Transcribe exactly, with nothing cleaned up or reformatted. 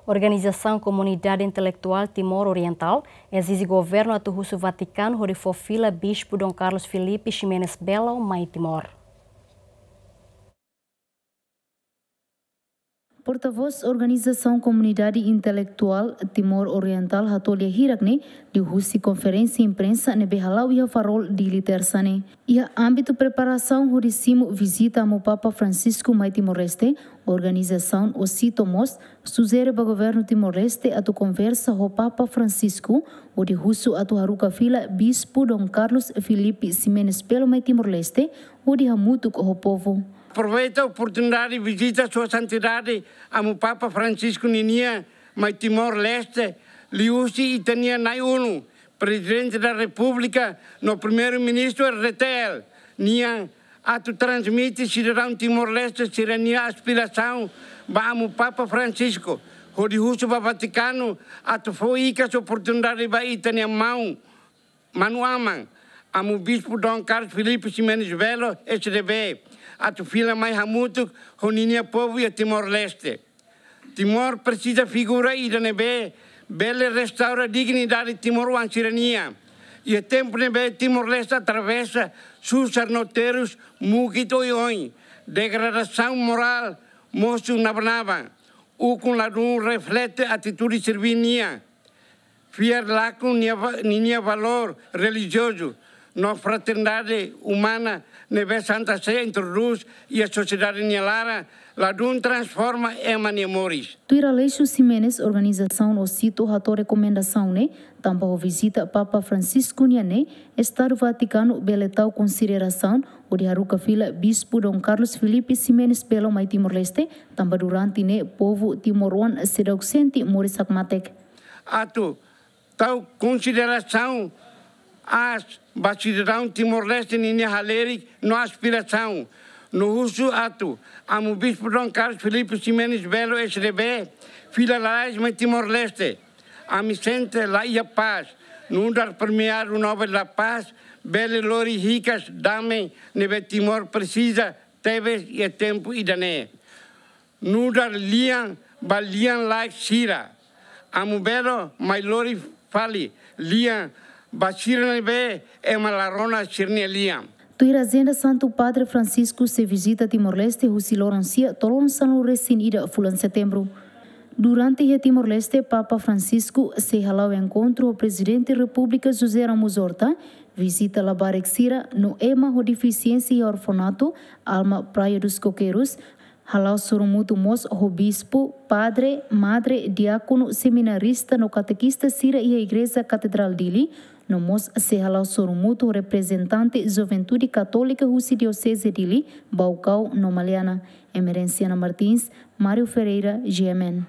Organizasaun Komunidade Intelektuál Timor Orientál ezije governu atu husu Vatikanu hodi fó fila Bispu Dom Carlos Filipe Ximenes Belo mai Timor. Portavós Organizasaun Komunidade Intelektuál Timor Orientál hato'o lia hirak ne'e liuhusi konferénsia imprensa ne'ebé hala'o iha Farol, Dili, Tersa ne'e. Iha ámbitu preparasaun hodi simu vizita Amu Papa Francisco mai Timor-Leste, organizasaun OCITO mós sujere ba governu Timor-Leste atu konversa ho Papa Francisco hodi husu atu haruka fila Bispu Dom Carlos Filipe Ximenes Belo mai Timor-Leste hodi hamutuk ho povu. Aproveita oportunidade vizita Sua Santidade Amu Papa Francisco ninian mai Timor-Leste, liuhusi ita-nia na'in-ulun, Prezidente da Repúblika no Primeiru-Ministru R D T L nian, atu transmite sidadaun Timor-Leste sira-nia aspirasaun ba Amu Papa Francisco, hodi husu ba Vatikanu atu fó hikas oportunidade ba ita-nia maun, manu-aman, Amu Bispu Dom Carlos Filipe Ximenes Belo, S D B, atu fila mai hamutuk ho ninia povu iha Timor-Leste. Timor presiza figura ida ne'ebé bele restaura dignidade timoroan sira-nian. Iha tempu ne'ebé Timor-Leste atravesa susar no terus, mukit oioin, degradasaun morál mosu naban-naban, ukun ladún reflete atitude sira-nian, fiar lakon nia va-, ninia valór relijiozu no fraternidade umana ne'ebé Santa Sé introdús iha sosiedade nia laran, ladún transforma ema nia moris. Tuir Aleixo Ximenes, organizasaun OCITO hato'o rekomendasaun ne'e tanba ho vizita Papa Francisco nian ne'e, Estadu Vatikanu bele tau konsiderasaun hodi haruka fila Bispu Dom Carlos Filipe Ximenes Belo mai Timor-Leste, tanba durante ne'e povu timoroan seidauk sente moris hakmatek. Atu tau konsiderasaun aas ba sidadaun Timor-Leste ninia halerik no aspirasaun, no husu atu Amu Bispu Dom Carlos Filipe Ximenes Belo, S D B, fila lalais mai Timor-Leste. Ami sente la iha pás, nu'udar Premiadu Nobel da Paz bele lori hikas dame ne'ebé Timor presiza tebes iha tempu ida-ne'e. Nu'udar lian ba lian-laek sira, Amu Belo mai lori fali lian ba sira ne'ebé ema la rona sira-nia lian. Tuir ajenda, Santu Padre Francisco sei vizita Timor-Leste husi loron sia to'o loron sanulu-resin-ida fulan Setembru. Durante iha Timor-Leste, Papa Francisco sei hala'o enkontru ho Prezidente Repúblika José Ramos Horta, vizita labarik sira no ema ho defisiénsia iha orfanatu Alma Praia dos Coqueiros, hala'o sorumutu mós ho bispu, padre, madre, diákonu, seminarista no katekista sira iha Igreja Katedrál Dili, no mós sei hala'o sorumutu ho reprezentante Juventude Katólika husi Dioseze Dili, Baucau no Maliana. Emerenciana Martins, Mário Ferreira, G M N.